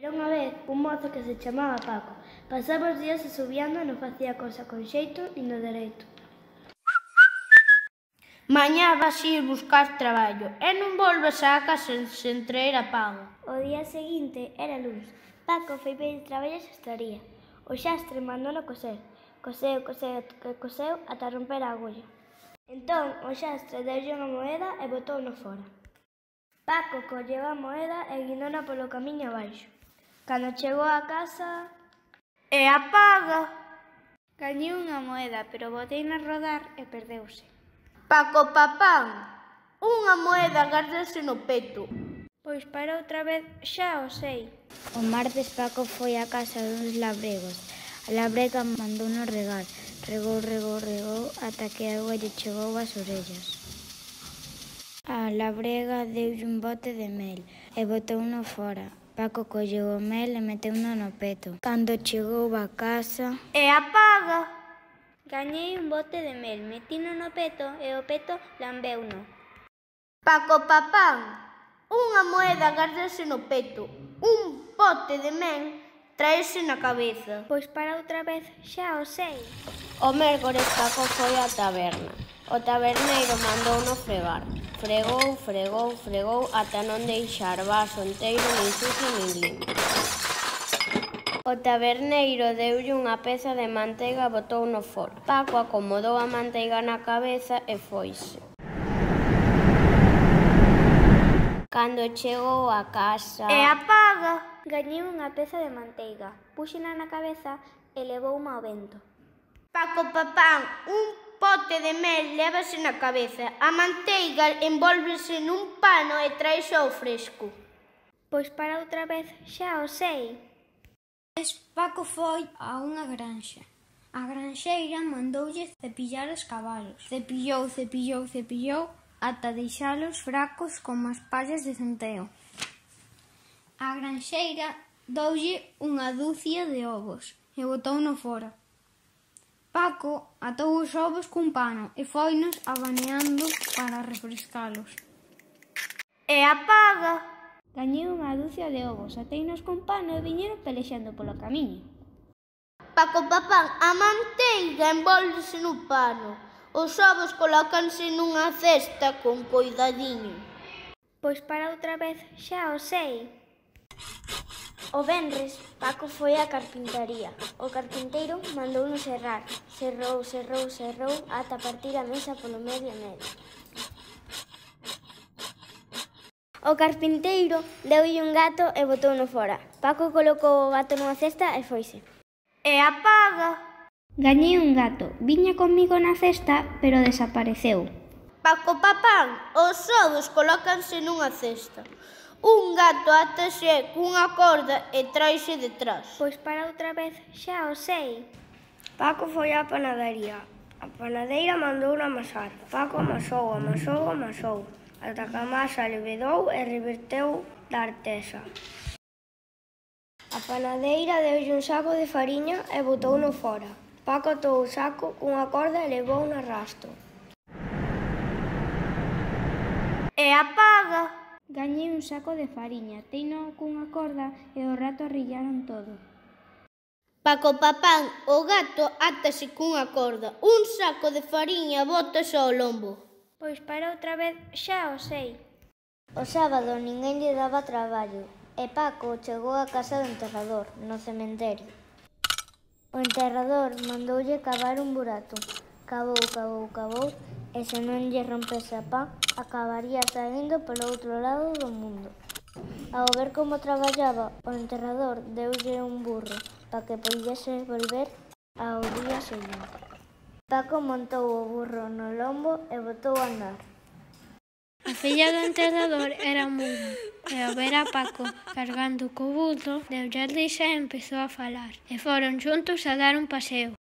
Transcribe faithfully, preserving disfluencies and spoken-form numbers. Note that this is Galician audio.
Era unha vez un mozo que se chamaba Paco. Pasaba os días asubiando e non facía cosa con xeito nin do dereito. Mañá vas ir buscar traballo e non volves á casa sen traer a paga. O día seguinte era luns. Paco foi pedir traballo a xastraría. O xastre mandouno coser. Coseu, coseu, coseu ata romper a agulla. Entón o xastre deulle unha moeda e botouno fora. Paco colleu a moeda e guindona polo camiño abaixo. Cando chegou á casa... E a paga? Gañei unha moeda, pero boteina a rodar e perdeuse. Paco Papán, unha moeda gárdase no peto. Pois para outra vez xa o sei. O martes Paco foi á casa duns labregos. A labrega mandouno regar. Regou, regou, regou, ata que a auga lle chegou ás orellas. A labrega deulle un bote de mel e botouno fora. Paco colleu o mel e meteuno no peto. Cando chegou á casa... E a paga? Gañei un bote de mel, metino no peto e o peto lambeuno. Paco Papán, unha moeda gárdase no peto. Un bote de mel traese na cabeza. Pois para outra vez xa o sei. O mércores Paco foi á taberna. O taberneiro mandouno fregar. Fregou, fregou, fregou ata non deixar vaso enteiro nin sucio nin limpo. O taberneiro deulle unha peza de manteiga e botouno fora. Paco acomodou a manteiga na cabeza e foise. Cando chegou a casa... E a paga? Gañei unha peza de manteiga, puxena na cabeza e levouma ao vento. Paco Papán, un pote de mel lévase na cabeza. A manteiga envólvese nun pano e traese ao fresco. Pois para outra vez xa o sei. Paco foi a unha granxa. A granxeira mandoulle cepillar os cabalos. Cepillou, cepillou, cepillou ata deixalos fracos como as pallas de centeo. A granxeira doulle unha dúcia de ovos e botouno fora. Paco atou os ovos cun pano e foinos abaneando para refrescalos. E a paga? Gañei unha dúcia de ovos, ateinos cun pano e viñeron pelexando polo camiño. Paco Papán, a manteiga envólvese nun pano. Os ovos colócanse nunha cesta con coidadiño. Pois para outra vez xa o sei. O venres, Paco foi á carpintaría. O carpinteiro mandouno serrar. Serrou, serrou, serrou ata partir a mesa polo medio e medio. O carpinteiro deulle un gato e botouno fora. Paco colocou o gato nunha cesta e foise. E a paga? Gañei un gato. Viña comigo na cesta, pero desapareceu. Paco Papán, os ovos colócanse nunha cesta. Un gato atase cunha corda e traise detrás. Pois para outra vez xa o sei. Paco foi á panadería. A panadeira mandouno amasar. Paco amasou, amasou, amasou, ata que a masa levedou e reverteu da artesa. A panadeira deulle un saco de fariña e botouno fora. Paco atou o saco cunha corda e levou no arrasto. E a paga? Gañei un saco de fariña, teino cunha corda e o rato arrillaron todo. Paco Papán, o gato átase cunha corda. Un saco de fariña bótase ao lombo. Pois para outra vez xa o sei. O sábado ninguén lle daba traballo e Paco chegou á casa do enterrador, no cementerio. O enterrador mandoulle cavar un burato. Cavou, cavou, cavou e se non lle rompese a pá, acabaría saindo polo outro lado do mundo. Ao ver como traballaba, o enterrador deulle un burro para que puidese volver ao día seguinte. Paco montou o burro no lombo e botou a andar. A filla do enterrador era muda e ao ver a Paco cargando co burro, deulle a risa e empezou a falar. E foron xuntos a dar un paseo.